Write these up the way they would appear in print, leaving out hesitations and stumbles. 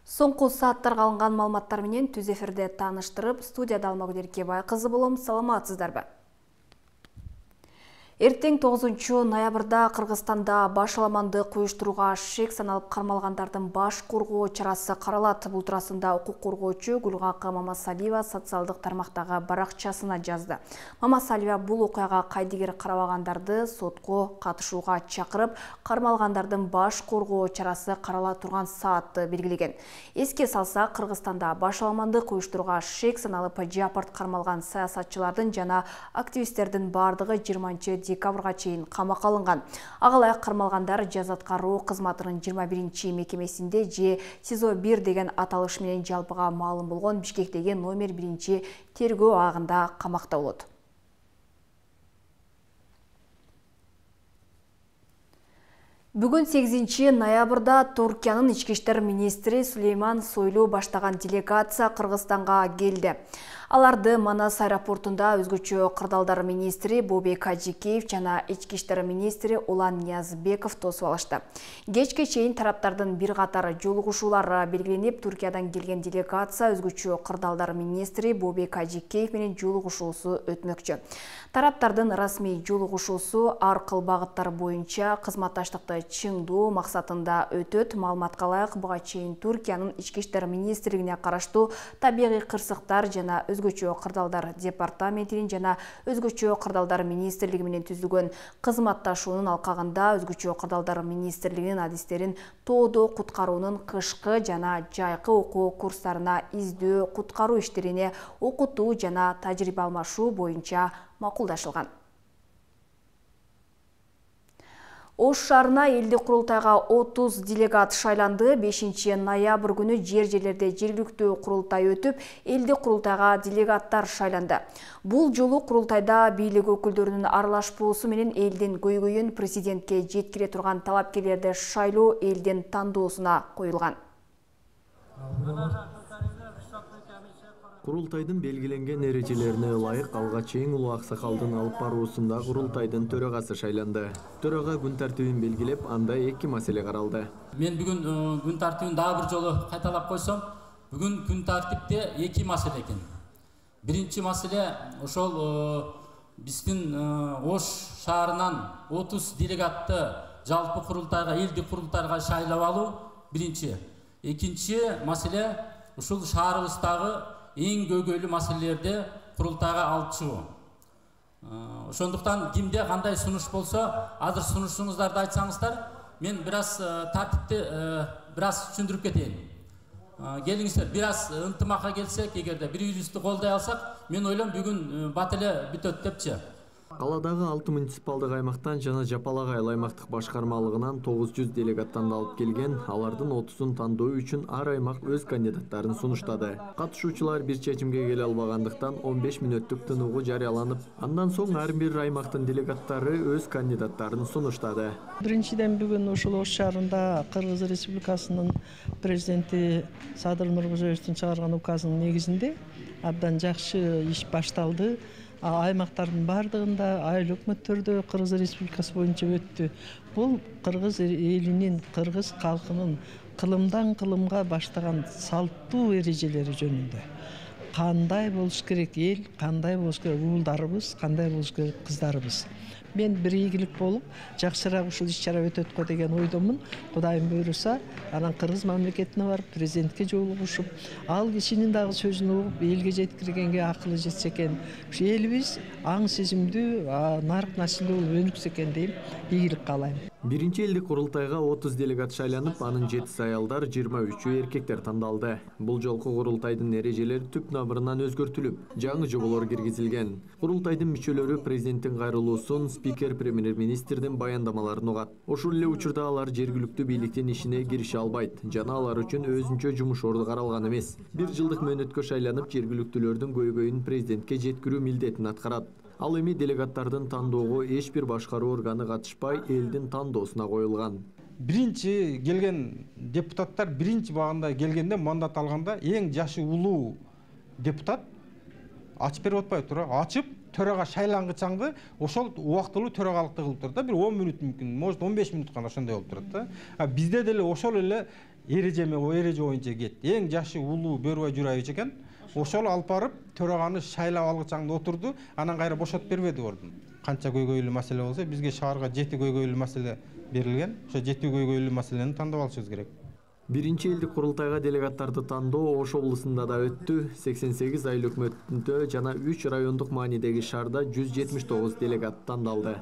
Соңку сааттарга алынган маалыматтар менен түз эфирде тааныштырып, студияда Алмагүл Эркебай кызы болом. Саламатсыздарбы? Эртең 9 ноябрда Кыргызстанда башаламандык уюштурууга шек саналып кармалгандардын баш коргоо чарасы каралат. Бул туурасында укук коргоочу Гүлгакы Мамасалиева социалдык тармактагы баракчасына жазды. Мамасалиева бул окуяга кайдыгер карабагандарды сотко катышууга чакырып, кармалгандардын баш коргоо чарасы карала турган саатты белгилеген. Эске салсак, Кыргызстанда башаламандык уюштурууга шек саналып жапырт кармалган саясатчылардын жана активисттердин бардыгы 20 декабрга чейин камакка алынган. Агалайык кармалгандар жаза аткаруу кызматынын 21 мекемесинде же СИЗО-1 деген аталыш менен жалпыга маалым болгон Бишкектеги номер 1 тергөө абагында камакта болот. Бүгүн 8 ноябрда Туркиянын ички иштер министри Сулейман Сойлу баштаган делегация Кыргызстанга келди. Аларды Манас аэропортунда өзгөчө кырдаалдар министри Бобек Ажикеев жана ички иштер министри Улан Ниязбеков тосуп алышты. Кечке чейин тараптардын бир катар жолугушуулары белгиленип, Туркиядан келген делегация өзгөчө кырдаалдар министри Бобек Ажикеев менен жолугушуусу өтмөкчү. Тараптардын расмий жолугушуусу ар кыл багыттар боюнча кызматташтыкты чыңдоо максатында өтөт. Маалыматка ылайык, буга чейин Туркиянын ички иштер министрлигине караштуу табигый кырсыктар жана өзгөчө кырдаалдар департаментинин жана өзгөчө кырдаалдар министрлиги менен түзүлгөн кызматташуунун алкагында өзгөчө кырдаалдар министрлигинин адистерин тоодо куткаруунун кышкы жана жайкы окуу курстарына издөө куткаруу иштерине окутуу жана тажрыйба алмашуу боюнча макулдашылган. Ош шаарына элдик курултайга 30 делегат шайланды. 5 ноябрь күнү жер-жерлерде жергиликтүү курултай өтүп, элдик курултайга делегаттар шайланды. Бул жолу курултайда бийлик өкүлдөрүнүн аралашпоосу менен элдин көйгөйүн президентке жеткире турган талапкерлерди шайлоо элдин тандоосуна коюлган. Курултайдын белгиленген эрежелерине ылайык алгач эң улуу аксакалдын алып баруусунда курултайдын төрагасы шайланды. Төрага күн тартибин белгилеп, анда 2 маселе каралды. Мен бүгүн күн тартибин дагы бир жолу кайталап койсом, бүгүн күн тартипте 2 маселе экен. Биринчи маселе ошол биздин Ош шаарынан 30 делегатты жалпы курултайга, элдик курултайга шайлап алуу биринчи. Экинчи маселе ушул шаарыбыздагы эң көйгөйлүү маселелерди курултайга алып чыгуу. Ошондуктан кимде кандай сунуш болсо, азыр сунушуңуздарды айтсаңыздар, мен бир аз тартипти бир аз түшүндүрүп кетейин. Келиңиздер, бир аз ынтымакка келсек, эгерде бири-бирибизди колдой алсак, мен ойлойм бүгүн бат эле бүтөт депчи. Каладагы 6 муниципалдык аймактан жана Жапалак айыл аймактык башкармалыгынан 900 делегаттан алып келген, алардын 30-ун тандоо үчүн ар аймак өз кандидаттарын сунуштады. Катышуучулар бир чечимге келе албагандыктан 15 мүнөттүк тынугу жарыяланып, андан соң ар бир аймактын делегаттары өз кандидаттарын сунуштады. Биринчиден бүгүн ушул Ош шаарында Кыргыз Республикасынын президенти Садыр Нуркузоевдун чыгарган указынын негизинде абдан жакшы иш башталды. Аймактардын бардыгында айыл өкмөттөрдө Кыргыз Республикасы боюнча өттү. Бул кыргыз элинин, кыргыз калкынын кылымдан кылымга баштаган салттуу эрежелери жөнүндө. Кандай болуш керек эл, кандай болуш керек уулдарыбыз, кандай болуш керек кыздарыбыз. Мен бир ийгилик болуп, жакшыраак ушул иш-чара өтөт го деген ойдомун. Кудайым буйруса, анан кыргыз мамлекетине барып, президентке жолугушуп, ал кишинин дагы сөзүн угуп, элге жеткиргенге акылы жетсе экен. Ушу элибиз аң сезимдүү, нарк насилдүү болуп өнүксө экен дейм, ийгилик каалайм. Биринчи элдик курултайга 30 делегат шайланып, анын 7 аялдар, 23 эркектер тандалды. Бул жолку курултайдын эрежелери түп тамырынан өзгөртүлүп, жаңы жоболор киргизилген. Курултайдын мүчөлөрү президенттин кайрылуусун, спикер премьер-министрдин баяндамаларын угат. Ошол эле учурда алар жергиликтүү бийликтин ишине кирише албайт, жана алар үчүн өзүнчө жумуш орду каралган эмес. 1 жылдык мөөнөткө шайланып, жергиликтүүлөрдүн көйгөйүн президентке жеткирүү милдетин аткарат. Ал эми делегаттардын тандоого эч бир башкаруу органы катышпай, элдин тандоосуна коюлган. Биринчи келген депутаттар биринчи багында келгенде, мандат алганда эң жашы улуу депутат ачып берип атпайбы туура, ачып төрага шайлангычаңды ошол убактылуу төрагалыкты кылып турат да, бир 10 мүнөт мүмкүн, может 15 мүнөт гана ошондой болуп турат да. Бизде деле ошол эле эреже боюнча кетти. Эң жашы улуу Бөрүбай Журайевич экен. Ошол алып барып төраганы шайлап алгычаңды отурду, анан кайра бошотуп бербеди ордун. Канча көйгөйлүү маселе болсо, бизге шаарга 7 көйгөйлүү маселе берилген. Ошо 7 көйгөйлүү маселени тандап алышыбыз керек. Биринчи элдик курултайга делегаттарды тандоо Ош облусунда да өттү. 88 айыл өкмөттүндө жана 3 райондук маанидеги шаарда 179 делегат тандалды.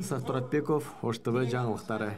Исак Туратбеков, Ош ТВ жаңылыктары.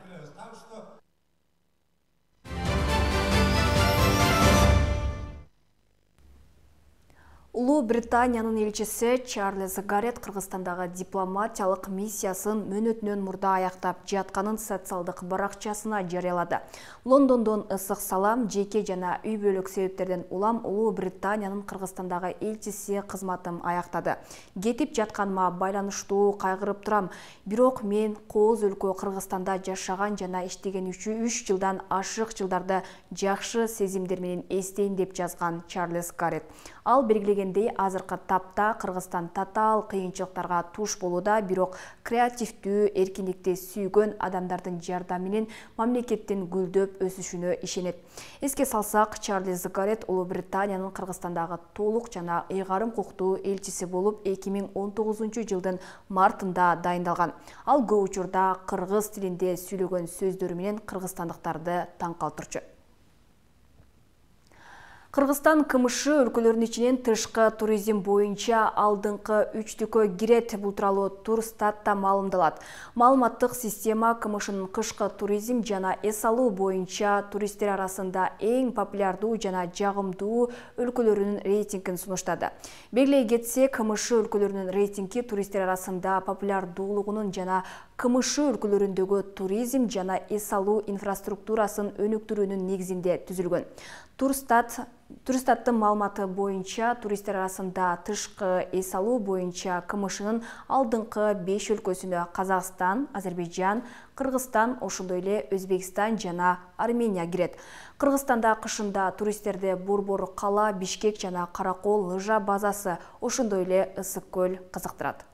Улуу Британиянын элчиси Чарльз Гаррет Кыргызстандагы дипломатиялык миссиясын мөөнөтүнөн мурда аяктап жатканын социалдык баракчасына жарыялады. Лондондон ысык салам, жеке жана үй бүлөлүк себептерден улам Улуу Британиянын Кыргызстандагы элчиси кызматым аяктады. Кетип жатканыма байланыштуу кайгырып турам. Бирок мен кооз өлкө Кыргызстанда жашаган жана иштеген 3 жылдан ашык жылдарды жакшы сезимдер менен эстейин деп жазган Чарльз Гаррет. Ал белгилегендей, азыркы тапта Кыргызстан татаал кыйынчылыктарга туш болууда, бирок креативдүү, эркиндикти сүйгөн адамдардын жардамы менен мамлекеттин гүлдөп өсүшүнө ишенет. Эске салсак, Чарльз Гаррет Улуу Британиянын Кыргызстандагы толук жана ыйгарым укуктуу элчиси болуп 2019 жылдын мартында дайындалган. Ал көп учурда кыргыз тилинде сүйлөгөн сөздөрү менен кыргызстандыктарды таң калтырчу. Кыргызстан КМШ өлкөлөрүнүн ичинен тышкы туризм боюнча алдыңкы 3-түккө кирет. Бул тууралуу Турстатта маалымдалат. Маалыматтык система КМШнын кышкы туризм жана эс алуу боюнча туристтер арасында эң популярдуу жана жагымдуу өлкөлөрүнүн рейтингин сунуштады. Белгилей кетсек, КМШ өлкөлөрүнүн рейтинги туристтер арасында популярдуулугунун жана КМШ өлкөлөрүндөгү туризм жана эс алуу инфраструктурасын өнүктүрүүнүн негизинде түзүлгөн. Турстаттын маалыматы боюнча туристтер арасында тышкы эс алуу боюнча КМШнын алдыңкы 5 өлкөсүнө Казакстан, Азербайжан, Кыргызстан, ошондой эле Өзбекстан жана Армения кирет. Кыргызстанда кышында туристтерди Борбор кала, Бишкек жана Каракол лыжа базасы, ошондой эле Ысык көл кызыктырат.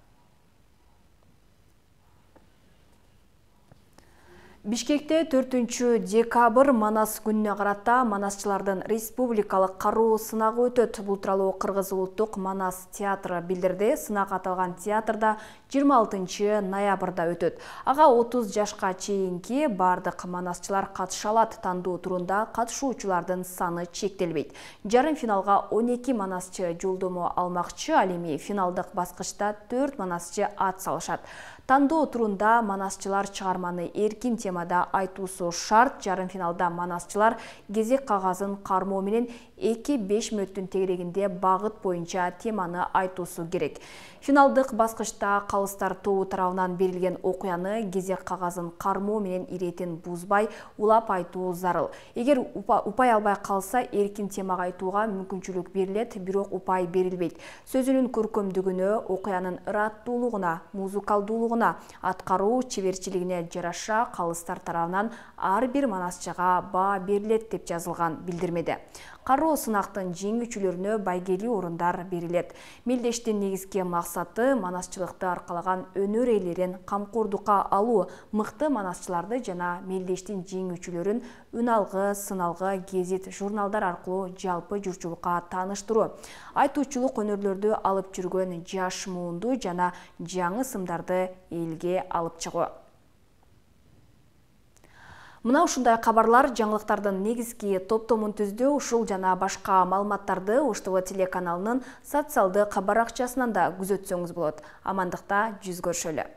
Бишкекте 4-декабрь Манас күнүнө карата манасчылардын республикалык кароо сынагы өтөт. Бул тууралуу Кыргыз улуттук Манас театры билдирди. Сынак аталган театрда 26 ноябрда өтөт. Ага 30 жашка чейинки бардык манасчылар катыша алат. Тандоо турунда катышуучулардын саны чектелбейт. Жарым финалга 12 манасчы жолдомо алмакчы, ал эми финалдык баскычта 4 манасчы ат салышат. Тандоо турунда манасчылар чыгарманы эркин темада айтуусу шарт. Жарым финалда манасчылар кезек кагазын кармоо менен 2-5 мүнөттүн тегерегинде багыт боюнча теманы айтуусу керек. Финалдык баскычта калыстар тобу тарабынан берилген окуяны кезек кагазын кармоо менен иретин бузбай улап айтуу зарыл. Эгер упай албай калса, эркин темага айтууга мүмкүнчүлүк берилет, бирок упай берилбейт. Сөзүнүн көркөмдүгүнө, окуянын ыраттуулугуна, музыкалдуулугуна, аткаруу чеберчилигине жараша калыстар тарабынан ар бир манасчыга баа берилет деп жазылган билдирмеде. Кароо сынактын жеңүүчүлөрүнө байгелүү орундар берилет. Мелдештин негизги максаты манасчылыкты аркалаган өнөр ээлерин камкордукка алуу, мыкты манасчыларды жана мелдештин жеңүүчүлөрүн үналгы, сыналгы, гезит, журналдар аркылуу жалпы журтчулукка тааныштыруу. Айтуучулук өнөрлөрдү алып жүргөн жаш муунду жана жаңы сымдарды элге алып чыгуу. Мына ушундай кабарлар жаңылыктардын негизги топтомун түздү. Ушул жана башка маалыматтарды Ош ТВ телеканалынын социалдык баракчасынан да күзөтсөңүз болот. Амандыкта жүз көрүшөлү.